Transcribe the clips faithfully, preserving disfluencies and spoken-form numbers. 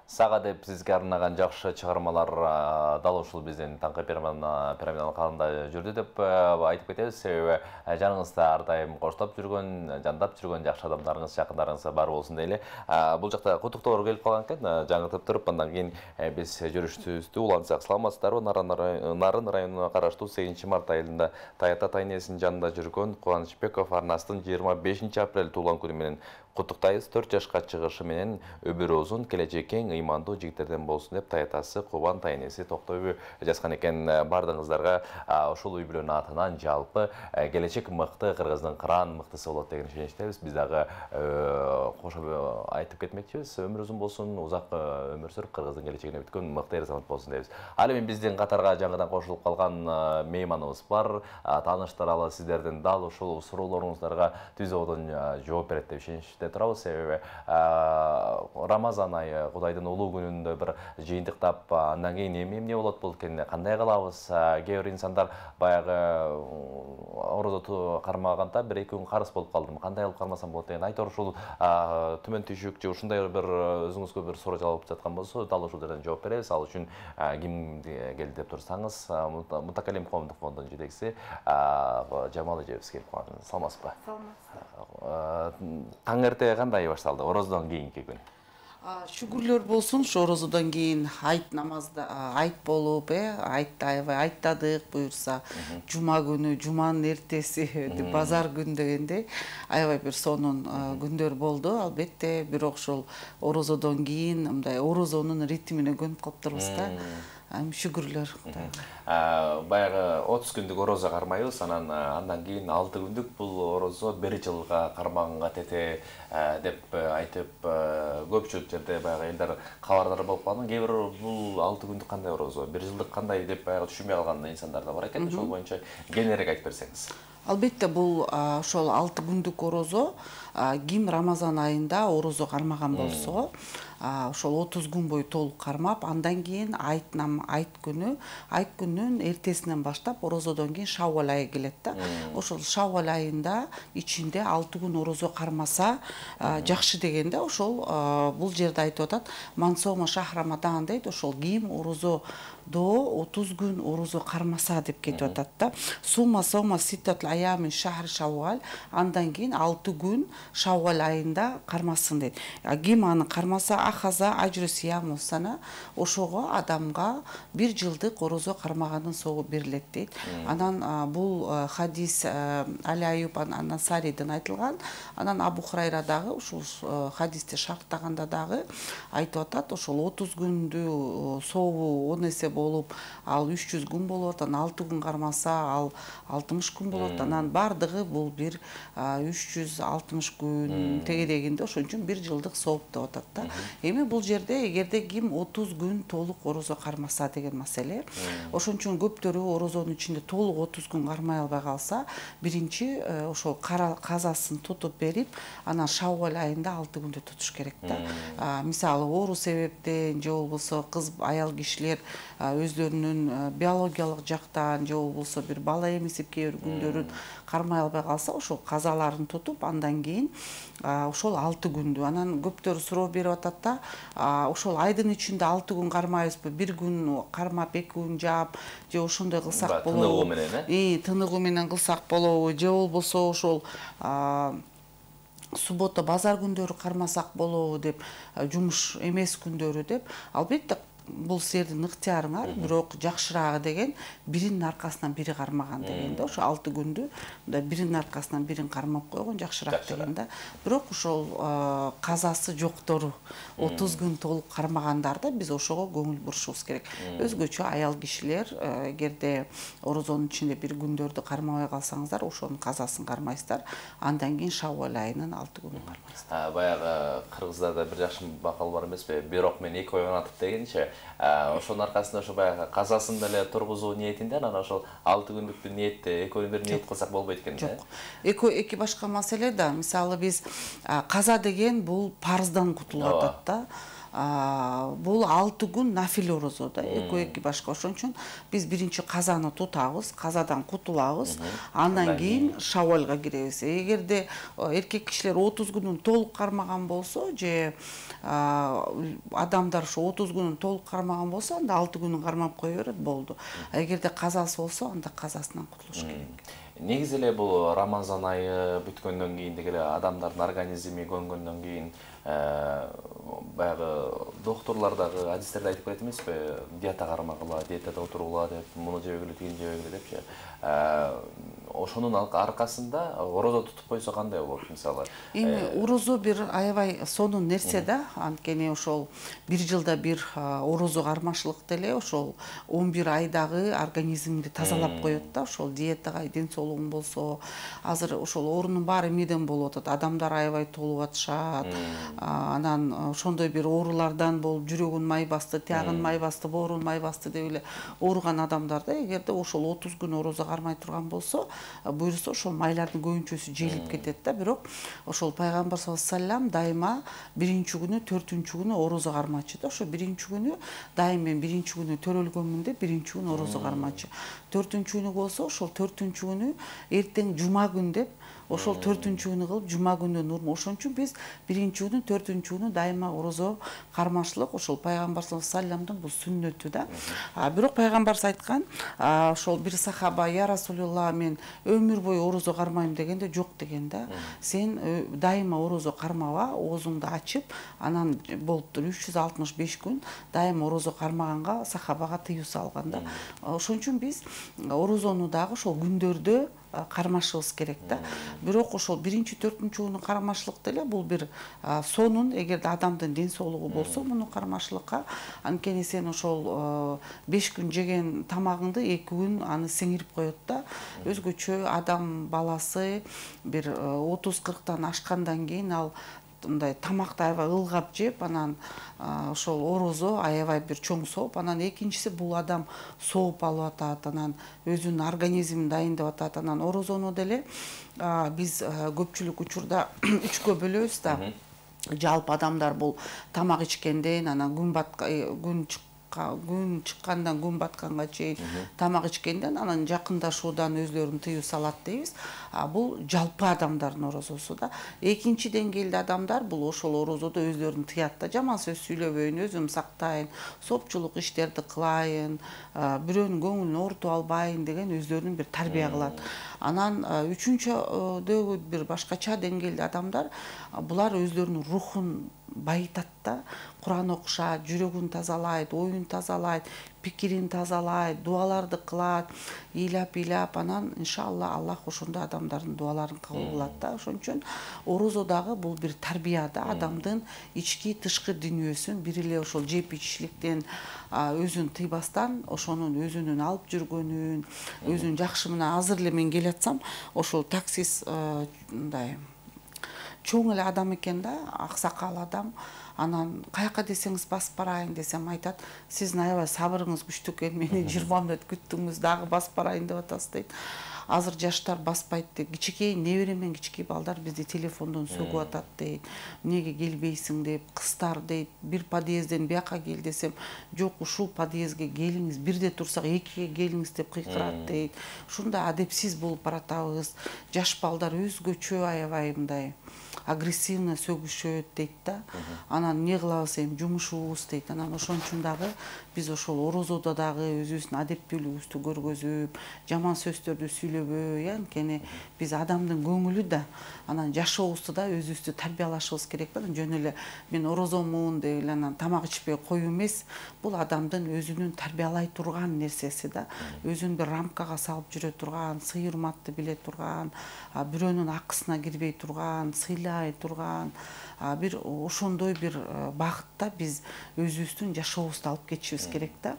Сага деп сизге арнаган жакшы чыгармалар дал ушул биздин таңкы пирамидалык калымда жүрдү деп айтып кетебиз. Себеби жаныңызда ар дайым коштоп жүргөн, жандап жүргөн жакшы адамдарыңыз, жакындарыңыз бар болсун дейли. Бул жакта куттуктоолор келип калган экен. Жаңыртып туруп, андан кийин биз жүрүшүбүздү улантсак. Саламатсыздарбы? Нарын районуна караштуу сегизинчи март айылында Таята Тайнесинин жанында жүргөн Кубанычбеков Арнастын жыйырма бешинчи апрель туулган күнү менен куттуктайбыз. төрт жашка чыгышы менен өмүрү узун, келечек кең, ыймандуу жигиттерден болсун деп таятасы Кубан Тайнеси Токтойбу жазган экен. Бардыгыңыздарга ушул үй бүлөнүн атынан жалпы келечек мыкты, кыргыздын кыран мыктысы болот деген ишеничтебиз. Биз дагы кошо айтып кетмекчибиз. Өмүр узун болсун, узак өмүр сүрүп, кыргыздын келечегине бүткөн мыкты эр-азамат болсун дейбиз. Ал эми биздин катарга жаңыдан кошулуп калган мейманыбыз бар. Тааныштыралы сиздердин дал ушул суроолоруңуздарга түз ободон жооп берет деп ишеничте турабыз. Себеби Рамазан айы, Кудайдын улуу күнүндө бир жыйынтыктап, андан кийин эмне эмне болот болкен, кандай кылабыз? Кээ бир инсандар баягы орозо кармаганда бир эки күн карыз болуп калдым, кандай кылып кармасам болот деген айтор ушул түмөн түйшүк же ушундай бир өзүңүзгө бир суроо жалап жаткан болсо, дал ушул жерден жооп беребиз. Ал үчүн ким келди деп турсаңыз, Мутакалим коомдук фондунун жетекчиси Жамал эжебиз келип калган. Саламатсызбы? Саламатсыз. Таң эрте кандай башталды? Орозодон кийинки күн. Шүгүрлөр болсун, ушу орозодон кийин айт намазда айт болуп, э, айтты аябай айттадык буюрса, жума күнү, жуманын эртеси, базар күн дегендей аябай бир сонун күндөр болду. Албетте, бирок ошол орозодон кийин мындай орозонун ритмине көнүп калыптырбыз да. Шүгүрлөр. Баягы отуз күндүк орозо кармайбыз, анан андан кийин алты күндүк бул орозо бир жылга кармаганга тете деп айтып, көпчүлүк жерде баягы элдер кабардар болуп калган. Кээ бир бул алты күндүк кандай орозо, бир жылдык кандай деп баягы түшүнбөй калган инсандар да бар экен. Ошол боюнча кеңиреак айтып берсеңиз. Албетте, бул ошол алты күндүк орозо ким Рамазан айында орозо кармаган болсо, ошол отуз күн бою толук кармап, андан кийин айт нам айт күнү, айт күнүнүн эртесинен баштап орозодон кийин Шаввал айы келет да. Ошол Шаввал айында ичинде алты күн орозо кармаса жакшы дегенде, ошол бул жерде айтып атат, мансома шах Рамадан дейт. Ошол ким орозо до отуз күн орозо кармаса деп кетип атат да. Сума сома ситтатул аямин шахр Шаввал, андан кийин алты күн Шаввал айында кармасын дейт. Ким аны кармаса, ахаза ажру сияму сана, ошого адамга бир жылдык орозо кармаганын соогу берилет дейт. Анан бул хадис Али Аюб ан-Насариден айтылган. Анан Абу Хурайра дагы ушул хадисти шарттаганда дагы айтып атат, ошол отуз күндү сообу он эсе болуп, ал үч жүз күн болот, анан алты күн кармаса, ал алтымыш күн болот. Анан бардыгы бул бир үч жүз алтымыш күн тегерегинде, ошон үчүн бир жылдык сооп деп атат да. Эми бул жерде эгерде ким отуз күн толук орозо кармаса деген маселе. Ошон үчүн көптөрү орозонун ичинде толук отуз күн кармай албай калса, биринчи ошол казасын тутуп берип, анан Шаввал айында алты күндө тутуш керек да. Мисалы, оору себептен же болбосо кыз аял кишилер өздөрүнүн биологиялык жактан же болбосо бир бала эмизип кээ бир күндөрүн кармай албай калса, ошол казаларын тутуп, андан кийин ошол алты күндү. Анан көптөр суроо берип атат да, ошол айдын ичинде алты күн кармайбызбы, бир күн кармап эки күн жаап, же ошондой кылсак болобу? Тыныгуу менен, э? Тыныгуу менен кылсак болобу? Же болбосо ошол суббота базар күндөрү кармасак болобу деп, жумуш эмес күндөрү деп. Албетте, бул силердин ыктыярыңар, бирок жакшыраагы деген биринин аркасынан бири кармаган деген да. Ошо алты күндү мындай биринин аркасынан бирин кармап койгон жакшыраак деген да. Бирок ошол казасы жоктору отуз күн толук кармагандарда биз ошого көңүл бурушубуз керек. Өзгөчө аял кишилер эгерде орозонун ичинде бир күндөрдү кармабай калсаңыздар, ошонун казасын кармайсыздар. Андан кийин Шаввал айынын алты күнүн кармайсыздар. Баягы кыргыздарда бир жакшы макал бар эмеспи? Бир ок менен эки ойгон атып дегенчи. Ошонун аркасында ошо баягы казасын деле тургузуу ниетинде, анан ошол алты күндүктү ниетти экөөнү бир ниет кылсак болбойт экен да. Жок. Эки эки башка маселе да. Мисалы, биз каза деген бул парыздан кутулуп атат да. бул алты күн нафил орозо да, экөө эки башка. Ошон үчүн биз биринчи казаны тутабыз, казадан кутулабыз, андан кийин шавалга киребиз. Эгерде эркек кишилер отуз күнүн толук кармаган болсо, же адамдар ошо отуз күнүн толук кармаган болсо, анда алты күнүн кармап кое берет, болду. Эгерде казасы болсо, анда казасынан кутулуш керек. Негизи эле бул Рамазан айы бүткөндөн кийин деги эле адамдардын организми көнгөндөн кийин баягы докторлор дагы адистерде айтып коет эмеспи, диета кармагыла, диетада отургула деп, муну жебегиле, тигини жебегиле депчи. Ошонун аркасында орозо тутуп койсо кандай болот мисалы? Эми орозо бир аябай сонун нерсе да, анткени ошол бир жылда бир орозо кармашлык деле ошол он бир айдагы организмди тазалап коет да, ошол диетага ден соолугуң болсо, азыр ошол оорунун баары эмнеден болуп атат, адамдар аябай толуп атышат, анан ошондой бир оорулардан болуп жүрөгүн май басты, тиягын май басты, боорун май басты деп эле ооруган адамдарда эгерде ошол отуз күн орозо кармай турган болсо, буюрса ошол майлардын көбүнчөсү желип кетет да. Бирок ошол пайгамбар саллаллаху алейхи вассалам дайыма биринчи күнү, төртүнчү күнү орозо кармачы да. Ошо биринчи күнү дайым мен биринчи күнү төрөлгөнмүн деп биринчи күнү орозо кармачы. Төртүнчү күнү болсо ошол төртүнчү күнү эртең жума күн деп ошол төртүнчү күнү кылып жума күнү нурму. Ошон үчүн биз биринчи күнү, төртүнчү күнү дайыма орозо кармашлык ошол пайгамбар саллаллаху алейхи вассаламдын бул сүннөтү да. Бирок пайгамбарыбыз айткан, ошол бир сахаба: "Я Расулулла, мен өмүр бою орозо кармайм" дегенде, "Жок" деген да. Сен дайыма орозо кармаба, оозуңду ачып, анан болуптур үч жүз алтымыш беш күн дайыма орозо кармаганга сахабага тыюу салган да. Ошон үчүн биз орозону дагы ошол күндөрдө кармашыбыз керек да. Бирок ошол биринчи, төртүнчү күнү кармашлык деле бул бир сонун, эгерде адамдын ден соолугу болсо, муну кармашлыкка. Анткени сен ошол беш күн жеген тамагыңды эки күн аны сиңирип коет да. Өзгөчө адам баласы бир отуз кырктан ашкандан кийин ал мындай тамакты аябай ылгап жеп, анан ошол орозо аябай бир чоң сооп, анан экинчиси бул адам сооп алып атат, анан өзүнүн организмин дайындап атат. Анан орозону деле биз көпчүлүк учурда үчкө бөлөбүз да. Жалпы адамдар бул тамак ичкенден, анан күн батка күн күн чыккандан күн батканга чейин тамак ичкенден, анан жакындашуудан өзлөрүн тыюу салат дейбиз. Бул жалпы адамдардын орозосу да. Экинчи деңгээлде адамдар бул ошол орозодо өзлөрүн тыят да. Жаман сөз сүйлөбөйүн, өзүм сактайын, сопчулук иштерди кылайын, бирөөнүн көңүлүн оорутуп албайын деген өзлөрүн бир тарбия кылат. Анан үчүнчүдөгү бир башкача деңгээлде адамдар, булар өзлөрүнүн рухун байытат да. Куран окушат, жүрөгүн тазалайт, оюн тазалайт, пикирин тазалайт, дуаларды кылат, ыйлап-ыйлап, анан иншалла Аллах ошондой адамдардын дуаларын кабыл кылат да. Ошон үчүн орозо дагы бул бир тарбия да, адамдын ички тышкы дүйнөсүн бир эле ошол жеп ичишликтен өзүн тыйбастан, ошонун өзүнүн алып жүргөнүн, өзүн жакшы мына азыр эле мен келатсам, ошол таксист мындай чоң эле адам экен да, аксакал адам. Анан каяка десеңиз басып барайын десем, айтат: "Сиздин аябай сабырыңыз күчтүү экен, мени жыйырма мүнөт күттүңүз, дагы басып барайын деп атасыз" дейт. Азыр жаштар баспайт дейт. Кичикей небере менен кичикей балдар бизди телефондон сөгүп атат дейт. Эмнеге келбейсиң деп, кыздар дейт, бир подъезден бияка кел десем, "Жок, ушул подъездге келиңиз, бирде турсак экиге келиңиз" деп кыйкырат дейт. Ушундай адепсиз болуп баратабыз. Жаш балдар өзгөчө аябай мындай агрессивно сөгүшөт дейт да. Анан эмне кылабыз эми, жумушубуз дейт. Анан ошон үчүн дагы биз ошол орозодо дагы өзүбүздүн адептүүлүгүбүздү көргөзүп, жаман сөздөрдү сүйлөбөй, анткени биз адамдын көңүлү да, анан жашообузду да өзүбүздү тарбиялашыбыз керек да. Жөн эле мен орозомун деп эле анан тамак ичпей коюу эмес. Бул адамдын өзүнүн тарбиялай турган нерсеси да. Өзүн бир рамкага салып жүрө турган, сый урматты биле турган, бирөөнүн акысына кирбей турган, сыйлай турган, бир ошондой бир багытта биз өзүбүздүн жашообузду алып кетишибиз керек да.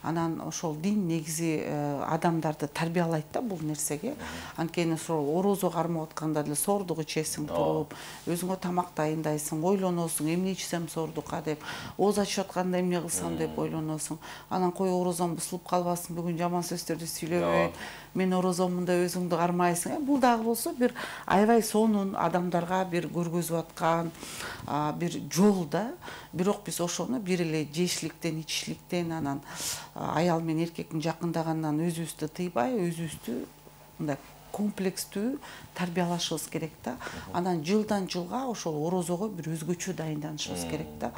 Анан ошол дин негизи адамдарды тарбиялайт да бул нерсеге. Анткени ошол орозо кармап атканда деле соордук ичесиң туруп, өзүңө тамак дайындайсың, ойлоносуң, эмне ичсем соордукка деп, ооз ачып атканда эмне кылсам деп ойлоносуң. Анан кой орозом бузулуп калбасын, бүгүн жаман сөздөрдү сүйлөбөйүн, мен орозомун деп өзүңдү кармайсың. Бул дагы болсо бир аябай сонун адамдарга бир бир көргөзүп аткан бир жол да. Бирок биз ошону бир эле жештиликтен, ичишликтен, анан аял менен эркектин жакындаганынан өзүбүздү тыйбай, өзүбүздү мындай комплекстүү тарбиялашыбыз керек да. Анан жылдан жылга ошол орозого бир өзгөчө дайынданышыбыз керек да.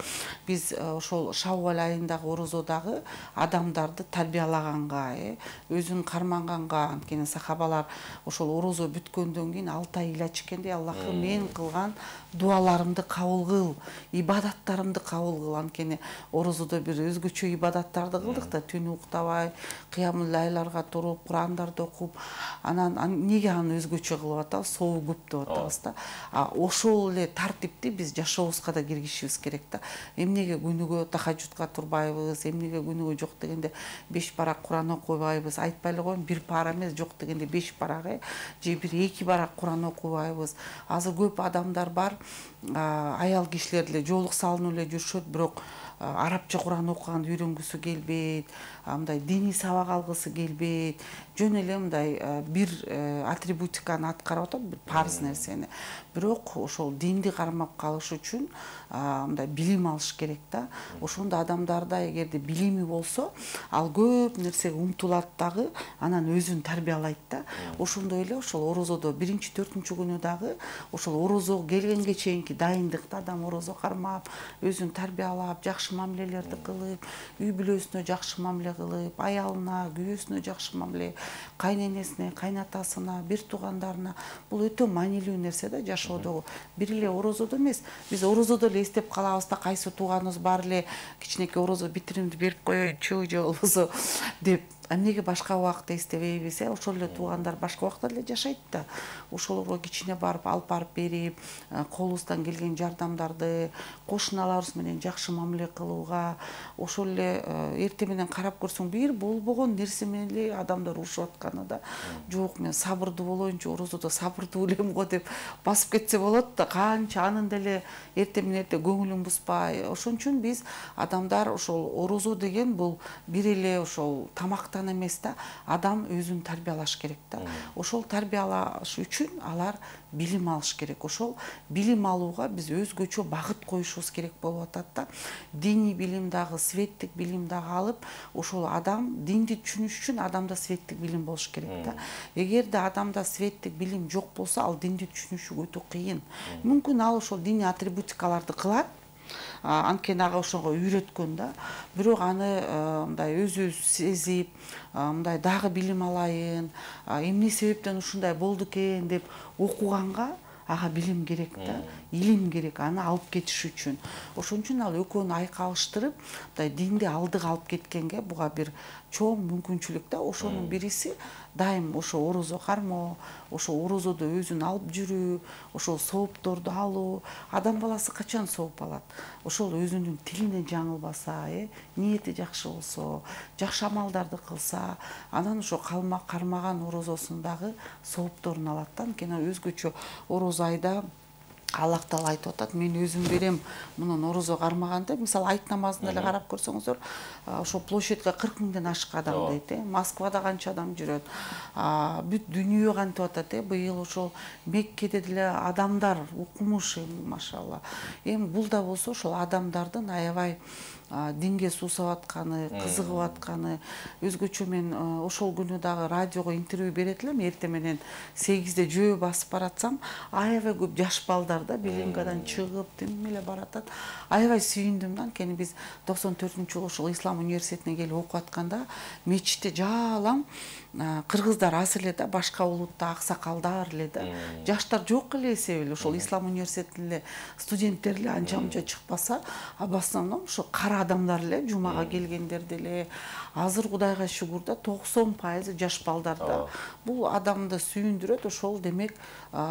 Биз ошол Шаввал айындагы орозодагы адамдарды тарбиялаганга, өзүн карманганга, анткени сахабалар ошол орозо бүткөндөн кийин алты ай ыйлачу экенди, Аллахым мен кылган дуаларымды кабыл кыл, ибадаттарымды кабыл кыл. Анткени орозодо бир өзгөчө ибадаттарды кылдык да, түн уктабай, кыямул лайларга туруп, Курандарды окуп, анан неге аны өзгөчө кылып атабыз, сообу көп деп атабыз да. Ошол эле тартипти биз жашообузга да киргизишибиз керек да. Эмнеге күнүгө тахажжудка турбайбыз, эмнеге күнүгө жок дегенде беш барак Куран окубайбыз, айтпай эле коеюн, бир пара эмес, жок дегенде беш барак, же бир эки барак Куран окубайбыз. Азыр көп адамдар бар, аял кишилер эле жоолук салынып эле жүрүшөт, бирок арабча Куран окуганды үйрөнгүсү келбейт, мындай диний сабак алгысы келбейт, жөн эле мындай бир атрибутиканы аткарып атат, бир парыз нерсени. Бирок ошол динди кармап калыш үчүн мындай билим алыш керек да. Ошондо адамдарда эгерде билими болсо, ал көп нерсеге умтулат дагы, анан өзүн тарбиялайт да. Ошондой эле ошол орозодо биринчи төртүнчү күнү дагы ошол орозого келгенге чейинки дайындыкта адам орозо кармап, өзүн тарбиялап, жакшы мамилелерди кылып, үй бүлөсүнө жакшы мамиле кылып, аялына, күйөөсүнө жакшы мамиле, кайненесине, кайнатасына, бир туугандарына, бул өтө маанилүү нерсе да жашоодогу. Бир эле орозодо эмес, биз орозодо эле эстеп калабыз да, кайсы тууганыбыз бар эле кичинекей орозо битиримди берип коеюнчу же болбосо деп. Эмнеге башка убакытта эстебейбиз? Ошол эле туугандар башка убакта эле жашайт да. Ошолорго кичине барып, алып барып берип, колубуздан келген жардамдарды, кошуналарыбыз менен жакшы мамиле кылууга, ошол эле эртең менен карап көрсөң, бир болбогон нерсе менен эле адамдар урушуп атканы да. Жок, мен сабырдуу болоюнчу, орозодо сабырдуу элем го деп басып кетсе болот да, канча анын деле эртең менен эрте көңүлүн бузбай. Ошон үчүн биз адамдар ошол орозо деген бул бир эле ошол тамак эмес да, адам өзүн тарбиялаш керек да. Ошол тарбиялаш үчүн алар билим алыш керек. Ошол билим алууга биз өзгөчө багыт коюшубуз керек болуп атат да. Диний билим дагы, светтик билим дагы алып, ошол адам динди түшүнүш үчүн адамда светтик билим болуш керек да. Эгерде адамда светтик билим жок болсо, ал динди түшүнүшү өтө кыйын. Мүмкүн ал ошол диний атрибутикаларды кылат, анткени ага ошого үйрөткөн да. Бирок аны мындай өзү сезип, мындай дагы билим алайын, эмне себептен ушундай болду экен деп окуганга ага билим керек да, илим керек аны алып кетиш үчүн. Ошон үчүн ал экөөнү айкалыштырып, мындай динди алдыга алып кеткенге буга бир чоң мүмкүнчүлүк да. Ошонун бириси дайым ошо орозо кармоо, ошо орозодо өзүн алып жүрүү, ошол соопторду алуу. Адам баласы качан сооп алат? Ошол өзүнүн тилине жаңылбаса, э, ниети жакшы болсо, жакшы амалдарды кылса, анан ошо кармаган орозосун дагы соопторун алат да. Анткени өзгөчө орозо айда Аллах Таала айтып атат, мен өзүм берем мунун орозо кармаганда, мисалы айт намазына эле карап көрсөңүздөр, ошо площадьга кырк миңден ашык адам дейт, э. Москвада канча адам жүрөт. Бүт дүйнө кантип атат, э. Быйыл ошол Меккеде деле адамдар укмуш, машалла. Эми бул да болсо ошол адамдардын аябай динге суусап атканы, кызыгып атканы. Өзгөчө мен ошол күнү дагы радиого интервью берет элем, эртең менен сегизде жөө басып баратсам, аябай көп жаш балдар да Белингадан чыгып, тим эле баратат. Аябай сүйүндүм да, анткени биз токсон төртүнчү жылы ошол Ислам университетине келип окуп атканда, мечитте жалаң кыргыздар аз эле да, башка улутта аксакалдар эле да. Жаштар жок эле эсеби эле, ошол Ислам университетинин эле студенттери эле анча-мынча чыкпаса, а в основном ошо кара адамдар эле, жумага келгендер деле. Азыр Кудайга шүгүр да, токсон пайызы жаш балдар да. Бул адамды сүйүндүрөт, ошол демек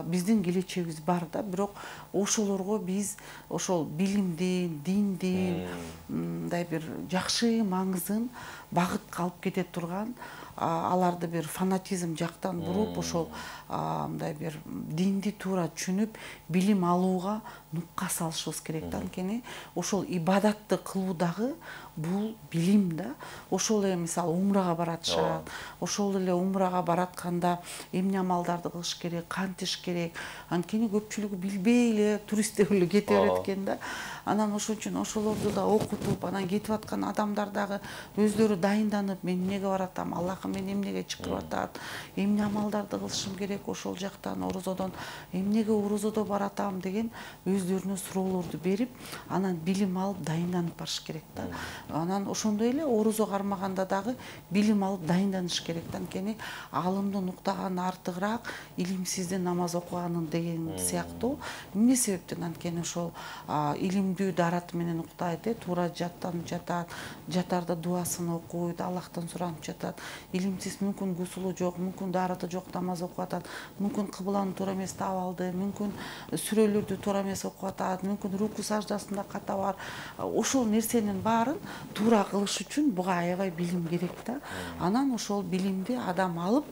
биздин келечегибиз бар да. Бирок ошолорго биз ошол билимди, динди, мындай бир жакшы маңызын багытка алып кете турган аларды бир фанатизм жактан буруп ошол мындай бир динди туура түшүнүп билим алууга нукка салышыбыз керек да. Анткени ошол ибадатты кылуу дагы бул билим да. Ошол эле мисалы умрага баратышат. Ошол эле умрага баратканда эмне амалдарды кылыш керек, кантиш керек. Анткени көпчүлүгү билбей эле туристтер эле кете берет экен да. Анан ошон үчүн ошолорду да окутуп, анан кетип аткан адамдар дагы өздөрү дайынданып, мен эмнеге баратам, Аллахым мени эмнеге чакырып атат, эмне амалдарды кылышым керек ошол жактан, орозодон эмнеге орозодо баратам деген өздөрүнө суроолорду берип, анан билим алып дайынданып барыш керек да. Анан ошондой эле орозо кармаганда дагы билим алып дайынданыш керек да. Анткени алымдын уктаганы артыгыраак илимсиздин намаз окуганын деген сыяктуу. Эмне себептен? Анткени ошол илимдүү дараты менен уктайт, э, туура жаттанып жатат, жатарда дуасын окуйт, Аллахтан суранып жатат. Илимсиз мүмкүн гусулу жок, мүмкүн дарыты жок намаз окуп атат, мүмкүн кыбланы туура эмес таап алды, мүмкүн сүрөлөрдү туура эмес окуп атат, мүмкүн руку саждасында ката бар. Ошол нерсенин баарын туура кылыш үчүн буга аябай билим керек да. Анан ошол билимди адам алып,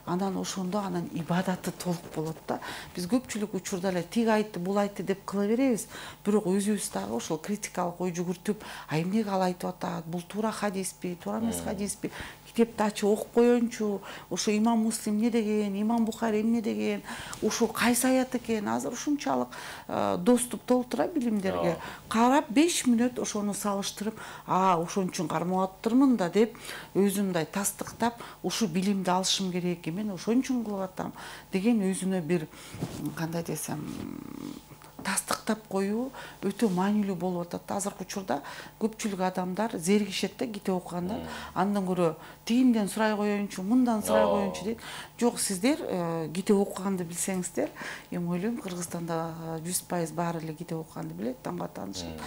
анан ошондо анан ибадаты толук болот да. Биз көпчүлүк учурда эле тиги айтты, бул айтты деп кыла беребиз. Бирок өзүбүз дагы ошол критикалык ой жүгүртүп, а эмнеге ал айтып атат, бул туура хадиспи, туура эмес хадиспи, китепти ачып окуп коеюнчу, ошо имам Муслим эмне деген, имам Бухари эмне деген, ошол кайсы аят экен. Азыр ушунчалык доступ толтура билимдерге. Карап беш мүнөт ошону салыштырып, а ошон үчүн кармап атырмын да деп өзүн мындай тастыктап, ушу билимди алышым керек, мен ошон үчүн кылып атам деген өзүнө бир кандай десем тастыктап коюу өтө маанилүү болуп атат. Азыркы учурда көпчүлүк адамдар зеригишет да китеп окуганда. Андан көрө тигинден сурай коеюнчу, мындан сурай коеюнчу дейт. Жок, сиздер китеп окуганды билсеңиздер, эми ойлойм Кыргызстанда жүз пайыз баары эле китеп окуганды билет, тамга таанышат.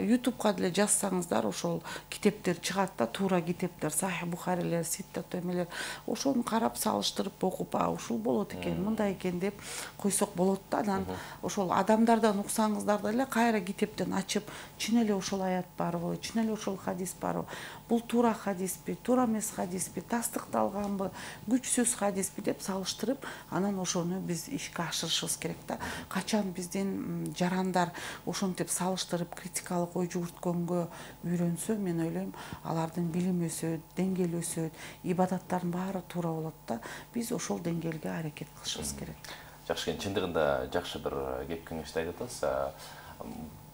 ютубка деле жазсаңыздар ошол китептер чыгат да, туура китептер, Сахих Бухарилер, Ситтат эмелер. Ошону карап салыштырып окуп, а ушул болот экен, мындай экен деп койсок болот да. Анан ошол адам адамдардан уксаңыздар деле кайра китептен ачып, чын эле ошол аят барбы, чын эле ошол хадис барбы, бул туура хадиспи, туура эмес хадиспи, тастыкталганбы, күчсүз хадиспи деп салыштырып, анан ошону биз ишке ашырышыбыз керек да. Качан биздин жарандар ошентип салыштырып, критикалык ой жүгүрткөнгө үйрөнсө, мен ойлойм, алардын билими өсөт, деңгээли өсөт, ибадаттардын баары туура болот да. Биз ошол деңгээлге аракет кылышыбыз керек. Жакшы, чындыгында жакшы бир кеп кеңешти айтып атасыз.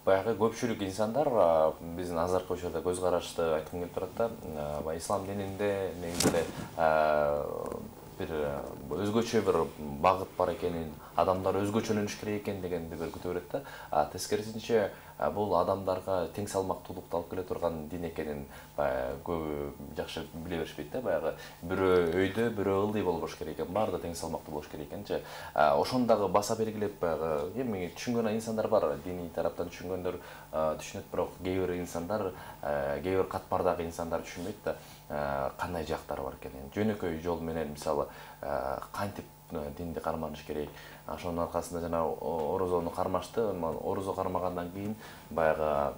Баягы көпчүлүк инсандар биздин азыркы учурда көз карашты айткым келип турат да. Ислам дининде негизи бир өзгөчө бир багыт бар экенин, адамдар өзгөчөлөнүш керек экен дегенди бир күтүп берет да. Тескерисинче бул адамдарга тең салмактуулукту алып келе турган дин экенин көбү жакшы биле беришпейт да. Баягы бирөө өйдө, бирөө ылдый болбош керек экен, баары да тең салмактуу болуш керек экенчи. Ошону дагы баса белгилеп, баягы эми түшүнгөн инсандар бар, диний тараптан түшүнгөндөр түшүнөт, бирок кээ бир инсандар, кээ бир катмардагы инсандар түшүнбөйт да. Кандай жактары бар экенин, жөнөкөй жол менен мисалы кантип динди карманыш керек. Ошонун аркасында жана орозону кармашты, орозо кармагандан кийин баягы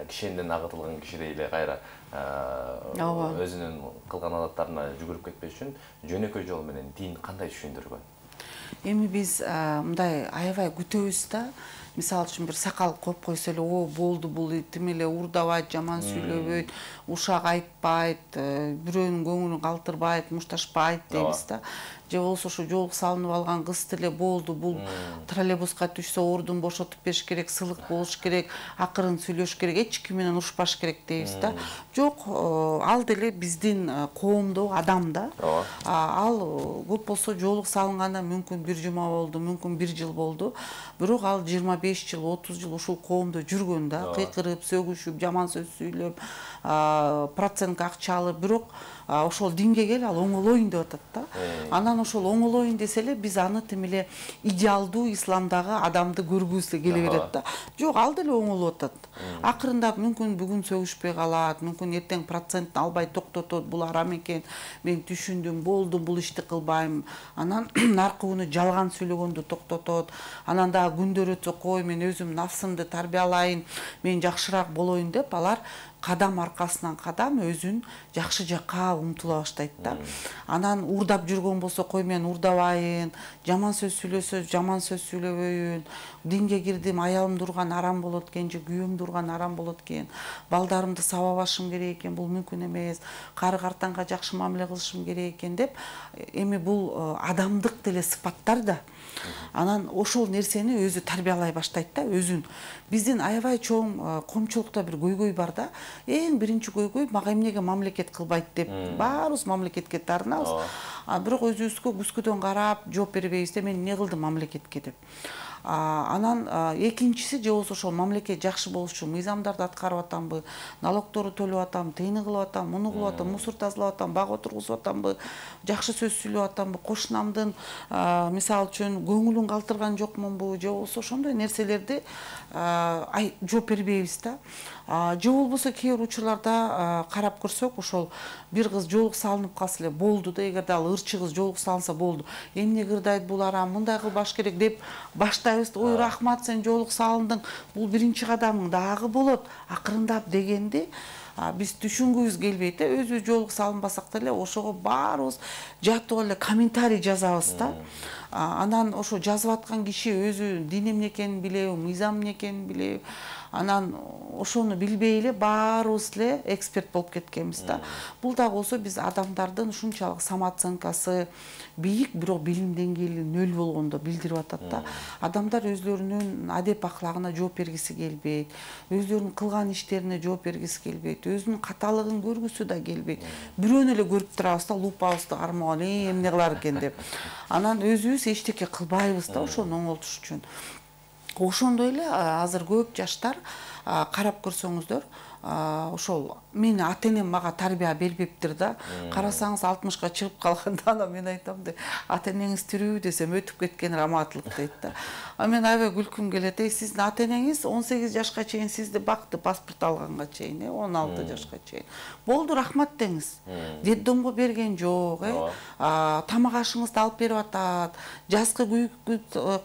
кишенден агытылган кишидей эле кайра өзүнүн кылган адаттарына жүгүрүп кетпеш үчүн жөнөкөй жол менен дин кандай түшүндүргөн? Эми биз мындай аябай күтөбүз да. Мисалы үчүн бир сакал коюп койсо эле, о, болду, бул тим эле урдабайт, жаман сүйлөбөйт, ушак айтпайт, бирөөнүн көңүлүн калтырбайт, мушташпайт дейбиз да. Же болбосо ушу жолук салынып алган кыз деле болду, бул троллейбуска түшсө ордун бошотуп бериш керек, сылык болуш керек, акырын сүйлөш керек, эч ким менен урушпаш керек дейбиз да. Жок, ал деле биздин коомдо адам да. Ал көп болсо жолук салынганда мүмкүн бир жума болду, мүмкүн бир жыл болду. Бирок ал жыйырма беш жыл, отуз жыл ушул коомдо жүргөн да, кыйкырып, сөгүшүп, жаман сөз сүйлөп, процентке акча алып, бирок ошол динге кел, ал оңолоюн деп атат да. Анан ошол оңолоюн десе эле биз аны тим эле идеалдуу исламдагы адамды көргүбүз келе берет да. Жок, ал деле оңолуп атат. Акырындап мүмкүн бүгүн сөгүшпөй калат, мүмкүн эртең процентин албай токтотот, бул арам экен, мен түшүндүм, болду, бул ишти кылбайм. Анан наркы күнү жалган сүйлөгөндү токтотот. Анан дагы күндөр өтсө койбой, мен өзүм нафсымды тарбиялайын, мен жакшыраак болоюн деп алар кадам аркасынан кадам өзүн жакшы жакка умтула баштайт да. Анан уурдап жүргөн болсо, кой мен уурдабайын, жаман сөз сүйлөсө жаман сөз сүйлөбөйүн, динге кирдим, аялымды урган арам болот экен же күйөөмдү урган арам болот экен, балдарымды сабабашым керек экен, бул мүмкүн эмес, кары картаңга жакшы мамиле кылышым керек экен деп, эми бул адамдык деле сыпаттар да. Анан ошол нерсени өзү тарбиялай баштайт да, өзүн. Биздин аябай чоң коомчулукта бир көйгөй бар да. Эң биринчи көйгөй мага эмнеге мамлекет кылбайт деп баарыбыз мамлекетке тарынабыз. А бирок өзүбүзгө күзгүдөн карап жооп бербейбиз да, мен эмне кылдым мамлекетке деп. Анан экинчиси же болбосо ошол мамлекет жакшы болуш үчүн мыйзамдарды аткарып атамбы, налогторду төлөп атам, тыйыны кылып атам, муну кылып атам, мусор тазалап атам, бак отургузуп атамбы, жакшы сөз сүйлөп атамбы, кошунамдын мисалы үчүн көңүлүн калтырган жокмунбу, же болбосо ошондой нерселерди жооп бербейбиз да. Же болбосо кээ бир учурларда карап көрсөк, ошол бир кыз жоолук салынып калса эле болду да, эгерде ал ырчы кыз жоолук салынса болду. Эмне кырдайт бул арам, мындай кылбаш керек деп баштайбыз. Ой, рахмат, сен жоолук салындың, бул биринчи кадамың, дагы болот, акырындап дегенди биз түшүнгүбүз келбейт да. Өзүбүз жоолук салынбасак деле ошого баарыбыз жатып эле комментарий жазабыз да. Анан ошо жазып аткан киши өзү дин эмне экенин билеби, мыйзам эмне экенин билеби. Анан ошону билбей эле баарыбыз эле эксперт болуп кеткенбиз да. Бул да болсо биз адамдардын ушунчалык самооценкасы бийик, бирок билим деңгээли нөл болгондо билдирип атат да. Адамдар өзлөрүнүн адеп аклагына жооп бергиси келбейт, өзлөрүнүн кылган иштерине жооп бергиси келбейт, өзүнүн каталыгын көргүсү да келбейт. Бирөөнү эле көрүп турабыз да, лупабызды кармаган, эмне кылар экен деп. Анан өзүбүз эчтеке кылбайбыз да ошону оңолтуш үчүн. Ошондой эле азыр көп жаштар карап көрсөңүздөр, ошол мени ата-энем мага тарбия бербептир да. Карасаңыз алтымышка чыгып калганда анан мен айтам да, ата-энеңиз тирүүбү десем өтүп кеткен раматылык дейт да. А мен аябай күлкүм келет. Эй, сиздин ата-энеңиз он сегиз жашка чейин сизди бакты, паспорт алганга чейин, он алты жашка чейин. Болду, рахмат деңиз. Детдомго берген жок, э. Тамак ашыңызды алып берип атат, жазкы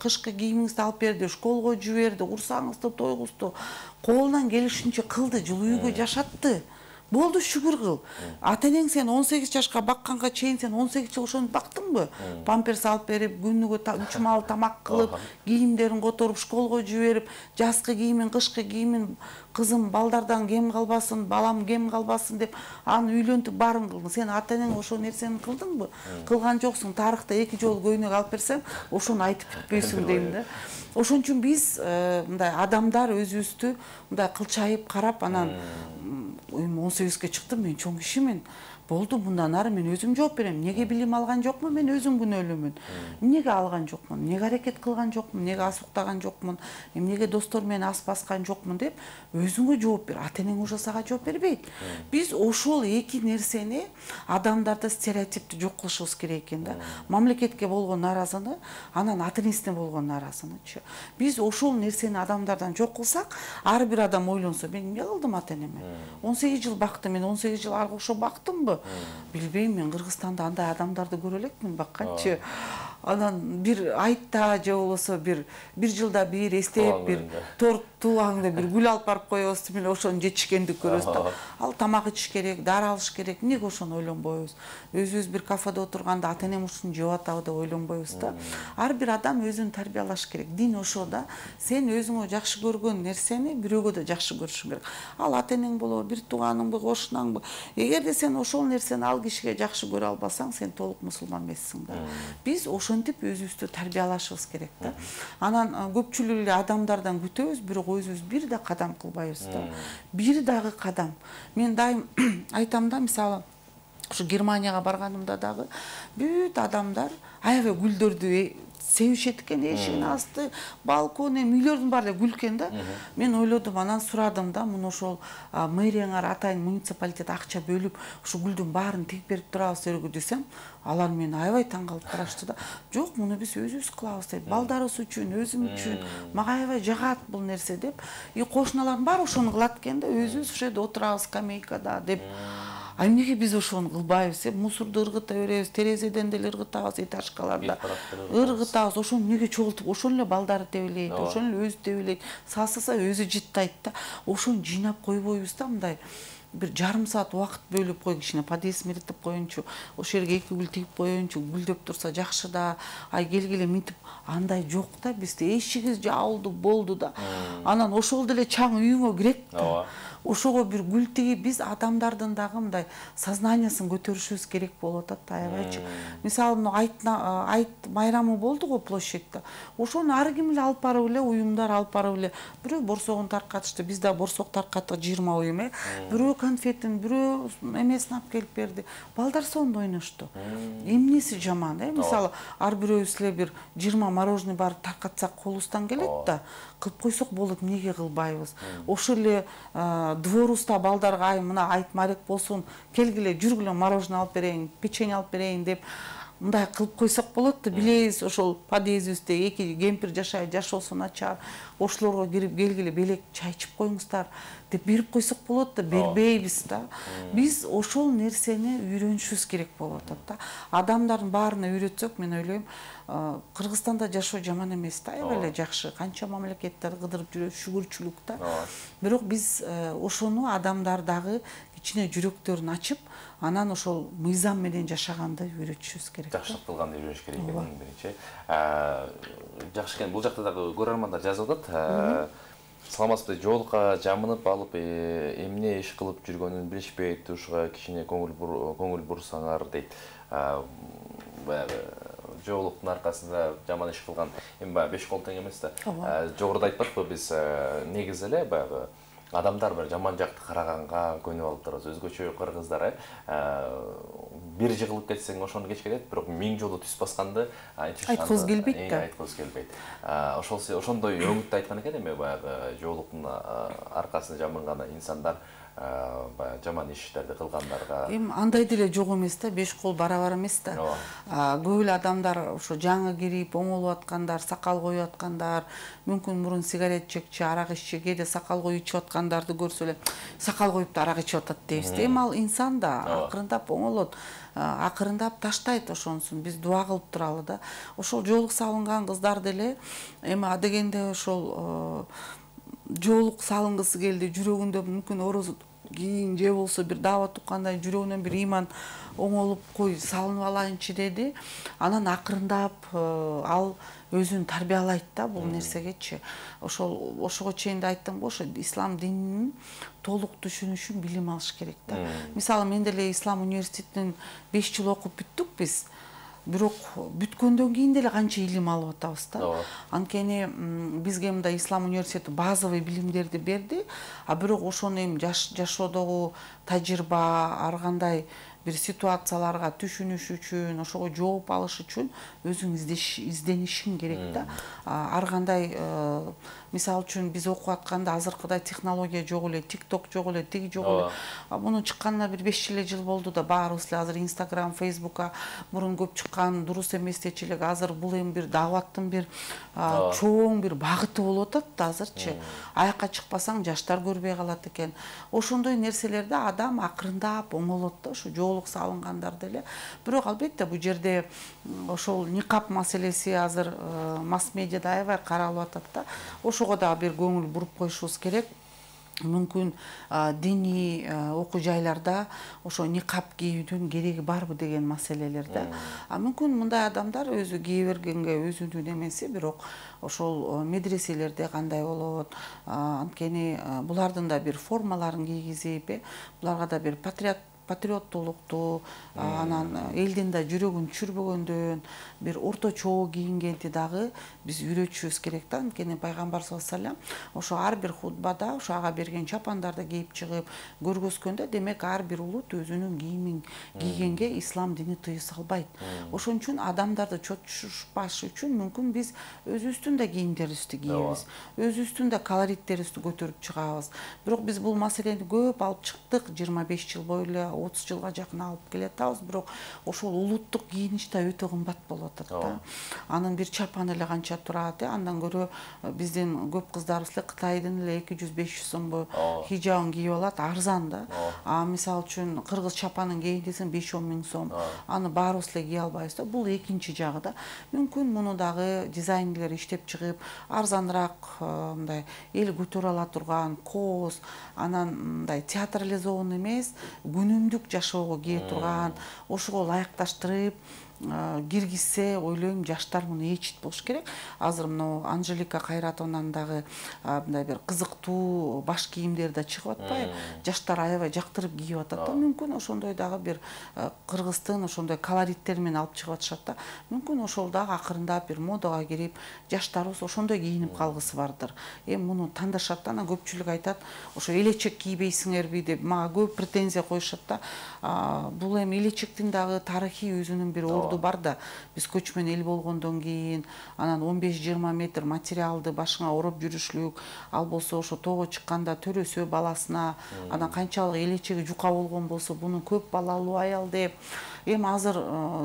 кышкы кийимиңизди алып берди, школго жиберди, курсаңызды, тойгузду, колунан келишинче кылды, жылуу үйгө жашатты. Болду, шүгүр кыл. Ата-энең сен он сегиз жашка бакканга чейин сен он сегиз жыл ошону бактыңбы? Памперс алып берип, күнүгө үч маал тамак кылып, кийимдерин которуп, школго жиберип, жазкы кийимин, кышкы кийимин, кызым балдардан кем калбасын, балам кем калбасын деп аны үйлөнтүп баарын кылдың. Сен ата-энең ошол нерсени кылдыңбы? Кылган жоксуң. Тарыхта эки жолу көйнөк алып берсең, ошону айтып бүтпөйсүң дейм да. Ошон үчүн биз мындай адамдар өзүбүздү мындай кылчайып карап, анан он сегизге чыктым, мен чоң кишимин. Болду, мындан ары мен өзүм жооп берем. Неге билим алган жокмун? Мен өзүм күнөөлүүмүн. Эмнеге алган жокмун? Эмнеге аракет кылган жокмун? Эмнеге ас уктаган жокмун? Эмнеге достор менен ас баскан жокмун деп өзүңө жооп бер. Ата-энең ошо сага жооп бербейт. Биз ошол эки нерсени адамдарда стереотипти жок кылышыбыз керек экен да. Мамлекетке болгон нааразыны, анан ата-энесине болгон нааразынычы. Биз ошол нерсени адамдардан жок кылсак, ар бир адам ойлонсо, мен эмне кылдым ата-энеме? он сегиз жыл бактым, мен он сегиз жыл ага окшоп бактымбы? Билбейм, мен Кыргызстанда андай адамдарды көрө элекмин бакканчы. Анан бир айтта же болбосо бир бир жылда бир эстеп бир торт туулганда бир гүл алып барып коебуз, мына ошону жетишкендик көрөбүз да. Ал тамак ичиш керек, дары алыш керек. Эмнеге ошону ойлонбойбуз? Өзүбүз бир кафеде отурганда ата-энем ушуну жеп атабы деп ойлонбойбуз да. Ар бир адам өзүн тарбиялаш керек. Дин ошо да. Сен өзүңө жакшы көргөн нерсени бирөөгө да жакшы көрүшүң керек. Ал ата-энең болобу, бир тууганыңбы, кошунаңбы. Эгерде сен ошол нерсени ал кишиге жакшы көрө албасаң, сен толук мусулман эмессиң да. Биз ошентип өзүбүздү тарбиялашыбыз керек да. Анан көпчүлүк эле адамдардан күтөбүз, бирок өзүбүз бир да кадам кылбайбыз да. Бир дагы кадам. Мен дайым айтам да, мисалы, ушу Германияга барганымда дагы бүт адамдар аябай гүлдөрдү севишет экен, эшигин асты, балкону, үйлөрдүн баары эле гүл экен да. Мен ойлодум, анан сурадым да, муну ошол мэрияңар атайын муниципалитет акча бөлүп, ушу гүлдүн баарын тегип берип турабызбы десем, алар мени аябай таң калып карашты да. Жок, муну биз өзүбүз кылабыз дейт. Балдарыбыз үчүн, өзүм үчүн, мага аябай жагат бул нерсе деп. И кошуналардын баары ошону кылат экен да, өзүбүз ушул жерде отурабыз скамейкада деп. А эмнеге биз ошону кылбайбыз? Мусорду ыргыта беребиз, терезеден деле ыргытабыз, этажкаларда ыргытабыз. Ошону эмнеге чогултуп, ошону эле балдары тебелейт, ошону эле өзү тебелейт. Сасыса өзү жыттайт да. Ошону жыйнап койбойбуз да мындай. Бир жарым саат убакыт бөлүп кой, кичине подъезд меретип коеюнчу, ошол жерге эки гүл тигип коеюнчу, гүлдөп турса жакшы да. Ай келгиле мынтип, андай жок да бизде. Эшиги жабылды, болду да. Анан ошол деле чаң үйүңө кирет да. Ошого бир гүл тигип, биз адамдардын дагы мындай сознаниясын көтөрүшүбүз керек болуп атат да, аябайчы. Мисалы, мына айт майрамы болду го площадьта. Ошону ар ким эле алып барып эле, уюмдар алып барып эле, бирөө борсогун таркатышты, биз да борсок таркаттык жыйырма уюм, э. Бирөө конфетин, бирөө эмесин алып келип берди. Балдар сонун ойношту. Эмнеси жаман, э? Мисалы, ар бирөөбүз эле бир жыйырма мороженый бар таркатсак колубуздан келет да. Кылып койсок болот, эмнеге кылбайбыз? Ошол эле дворубузда балдарга ай мына айт марек болсун, келгиле жүргүлө мороженое алып берейин, печенье алып берейин деп мындай кылып койсок болот да. Билебиз, ошол подъездибизде эки кемпир жашайт, жашоосу начар. Ошолорго кирип келгиле белек чай ичип коюңуздар деп берип койсок болот да. Бербейбиз да. Биз ошол нерсени үйрөнүшүбүз керек болуп атат да. Адамдардын баарына үйрөтсөк, мен ойлойм, Кыргызстанда жашоо жаман эмес да, аябай эле жакшы. Канча мамлекеттер кыдырып жүрөбүз, шүгүрчүлүк да. Бирок биз ошону адамдар дагы кичине жүрөктөрүн ачып, анан ошол мыйзам менен жашаганды үйрөтүшүбүз керек. Жакшылык кылганды үйрөнүш керек экен биринчи. Жакшы экен, бул жакта дагы көрөрмандар жазып атат. Саламатсызбы, жоолукка жамынып алып, эмне иш кылып жүргөнүн билишпейт, ушуга кичине көңүл бурсаңар дейт. Баягы жоолуктун аркасында жаман иш кылган, эми баягы беш кол тең эмес да. Жогоруда айтпадыкпы, биз негизи эле баягы адамдар бир жаман жакты караганга көнүп алып турабыз. Өзгөчө кыргыздар, бир жыгылып кетсең ошону кеч кетет, бирок миң жолу түз басканды айткыбыз келбейт да. Айткыбыз келбейт. Ошол ошондой өңүттү айткан экен, эми баягы жоолуктун аркасында жамынган инсандар баягы жаман иштерди кылгандарга. Эми андай деле жок эмес да, беш кол барабар эмес да. Көп эле адамдар ошо жаңы кирип, оңолуп аткандар, сакал коюп аткандар, мүмкүн мурун сигарет чекчи, арак иччи, кээде сакал коюп ичип аткандарды көрсө эле сакал коюп да арак ичип атат дейбиз. Эми ал инсан да акырындап оңолот, акырындап таштайт ошонусун. Биз дуа кылып туралы да. Ошол жоолук салынган кыздар деле эми адегенде ошол жоолук салынгысы келди, жүрөгүндө мүмкүн орозо кийин же болсо бир даават уккандай жүрөгүнөн бир ыйман оңолуп кой салынып алайынчы деди. Анан акырындап ал өзүн тарбиялайт да бул нерсегечи. Ошол ошого чейин да айттым го, ошо ислам дининин толук түшүнүшүн билим алыш керек да. Мисалы, мен деле ислам университетинен беш жыл окуп бүттүк биз. Бирок бүткөндөн кийин деле канча илим алып атабыз да. Анткени бизге мындай ислам университети базовый билимдерди берди, а бирок ошону эми жашоодогу тажрыйба, ар кандай бир ситуацияларга түшүнүш үчүн, ошого жооп алыш үчүн өзүң изденишиң керек да. Ар кандай, мисалы үчүн биз окуп атканда азыркыдай технология жок эле, TikTok жок эле, тиги жок эле. Мунун чыкканына бир беш эле жыл болду да, баарыбыз эле азыр Instagram, Facebook'ка мурун көп чыккан дурус эмес дечи элек, азыр бул эми бир дааваттын бир чоң бир багыты болуп атат да азырчы. Аякка чыкпасаң жаштар көрбөй калат экен. Ошондой нерселерде адам акырындап оңолот да, ошо жоолук салынгандар деле. Бирок албетте бул жерде ошол никап маселеси азыр масс медиада аябай каралып атат да. Ошого да бир көңүл буруп коюшубуз керек. Мүмкүн диний окуу жайларда ошо никап кийүүдүн кереги барбы деген маселелерде. А мүмкүн мындай адамдар өзү кие бергенге өзүнүн эмеси, бирок ошол медреселерде кандай болот, анткени булардын да бир формаларын кийгизип, буларга да бир патриот патриоттуулукту, анан элдин да жүрөгүн түшүрбөгөндөн бир орточо кийингенди дагы биз үйрөтүшүбүз керек да. Анткени пайгамбар саллаллаху алейхи вассалам ошо ар бир хутбада ошо ага берген чапандарды кийип чыгып көргөзгөндө, демек ар бир улут өзүнүн кийимин кийгенге ислам дини тыюу салбайт. Ошон үчүн адамдарды чочушпаш үчүн мүмкүн биз өзүбүздүн да кийимдерибизди кийебиз, өзүбүздүн да колориттерибизди көтөрүп чыгабыз. Бирок биз бул маселени көп алып чыктык, жыйырма беш жыл бою эле отуз жылга жакын алып келатабыз, бирок ошол улуттук кийиниш да өтө кымбат болуп атат да. Анын бир чапаны эле канча турат, андан көрө биздин көп кыздарыбыз эле Кытайдын эле эки жүз беш жүз сомго хижабын кийип алат, арзан да. А мисалы үчүн кыргыз чапанын кийин десең беш он миң сом, аны баарыбыз эле кие албайбыз да. Бул экинчи жагы да. Мүмкүн муну дагы дизайнерлер иштеп чыгып, арзаныраак мындай эл көтөрө ала турган кооз, анан мындай театрализован эмес, күнүмдүк жашоого кие турган, ошого ылайыкташтырып киргизсе, ойлойм, жаштар муну ээчит болуш керек. Азыр мына Анжелика Кайратованын дагы мындай бир кызыктуу баш кийимдери да чыгып атпайбы? Жаштар аябай жактырып кийип атат да. Мүмкүн ошондой дагы бир кыргыздын ошондой колориттери менен алып чыгып атышат да. Мүмкүн ошол дагы акырындап бир модага кирип, жаштарыбыз ошондой кийинип калгысы бардыр. Эми муну тандашат да, анан көпчүлүк айтат, ошо элечек кийбейсиңерби деп мага көп претензия коюшат да. Бул эми элечектин дагы тарыхый өзүнүн бир бар да. Биз көчмөн эл болгондон кийин анан он беш жыйырма метр материалды башыңа ороп жүрүшлүк, ал болсо ошо тоого чыкканда төрөсө баласына, анан канчалык элечеги жука болгон болсо буну көп балалуу аял деп. Эми азыр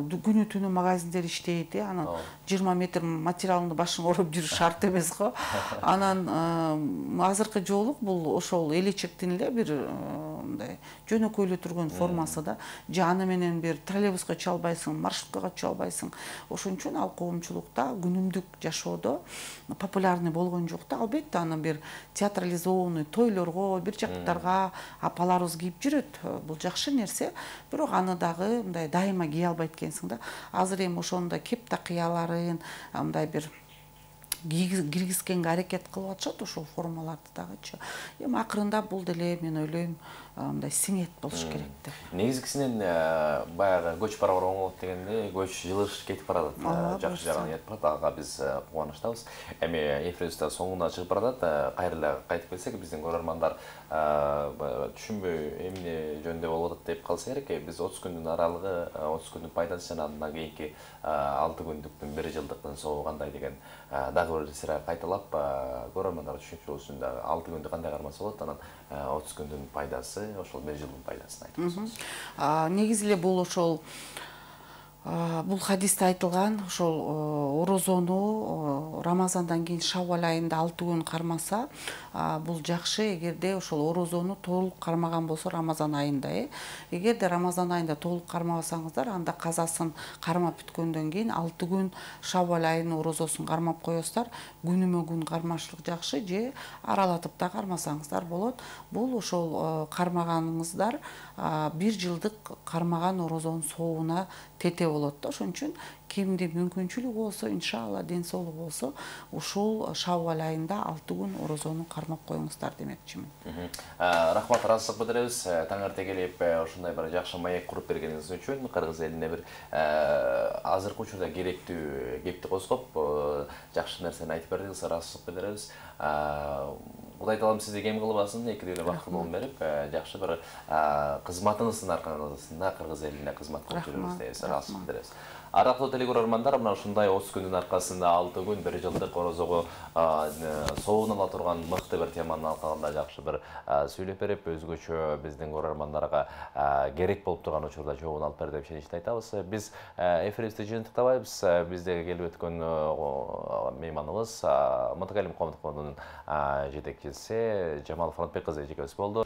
күнү түнү магазиндер иштейт, анан жыйырма метр материалды башыңа ороп жүрүш шарт эмес го. Анан азыркы жоолук бул ошол элечектин эле бир мындай жөнөкөйлө турган формасы да. Же аны менен бир троллейбуска чыга албайсың, маршруткага чыга албайсың. Ошон үчүн ал коомчулукта күнүмдүк жашоодо популярный болгон жок да. Албетте аны бир театрализованный тойлорго, бир жактарга апаларыбыз кийип жүрөт. Бул жакшы нерсе, бирок аны дагы мындай дайыма кие албайт экенсиң да. Азыр эми ошондой кеп такыяларын мындай бир киргизгенге аракет кылып атышат, ошол формаларды дагычы. Эми акырындап бул деле мен ойлойм мындай сиңет болуш керек деп. Негизгисинен баягы көч барабар оңолот дегенде көч жылыш кетип барат, жакшы жагына кетип барат. Ага биз кубанычтабыз. Эми эфирибизде соңуна чыгып баратат. Кайра кайтып келсек, биздин көрөрмандар түшүнбөй эмне жөнүндө болуп атат деп калса керек. Биз отуз күндүн аралыгы, отуз күндүн пайдасы жана андан кийинки алты күндүктүн бир жылдыктын соогу кандай деген дагы бир сыра кайталап көрөрмандар түшүнүкчү болсун. алты күндү кандай кармаса болот, анан отуз күндүн пайдасы, ошол бир жылдын пайдасын айтып берсеңиз. Негизи эле бул ошол бул хадисте айтылган ошол орозону Рамазандан кийин Шаввал айында алты күн кармаса, бул жакшы. Эгерде ошол орозону толук кармаган болсо Рамазан айында, э эгерде Рамазан айында толук кармабасаңыздар, анда казасын кармап бүткөндөн кийин алты күн Шаввал айынын орозосун кармап коесуздар. Күнүмө күн кармашлык жакшы, же аралатып да кармасаңыздар болот. Бул ошол кармаганыңыздар бир жылдык кармаган орозонун соогуна тете болот да. Ошон үчүн кимде мүмкүнчүлүгү болсо, иншалла ден соолугу болсо, ушул Шаввал айында алты күн орозону кармап коюңуздар демекчимин. Рахмат, ыраазычылык билдиребиз. Таң эрте келип ошондой бир жакшы маек куруп бергениңиз үчүн, кыргыз элине бир азыркы учурда керектүү кепти козгоп, жакшы нерсени айтып бердиңиз, ыраазычылык билдиребиз. Кудай таалам сизди кем кылбасын, экидей бактылуулун берип, жакшы бир кызматыңыздын аркасында кыргыз элине кызмат кылып жүрүңүз дейбиз, ыраазычылык билдиребиз. Арактуу телекөрөрмандар, мына ушундай отуз күндүн аркасында алты күн бир жылдык орозого соогун ала турган мыкты бир теманын алкагында жакшы бир сүйлөп берип, өзгөчө биздин көрөрмандарга керек болуп турган учурда жообун алып берди деп ишеничти айтабыз. Биз эфирибизди жыйынтыктабайбыз. Биздеги келип өткөн мейманыбыз Мотокалим Коомдук фондунун жетекчиси Жамал Фронтбек кызы эжекебиз болду.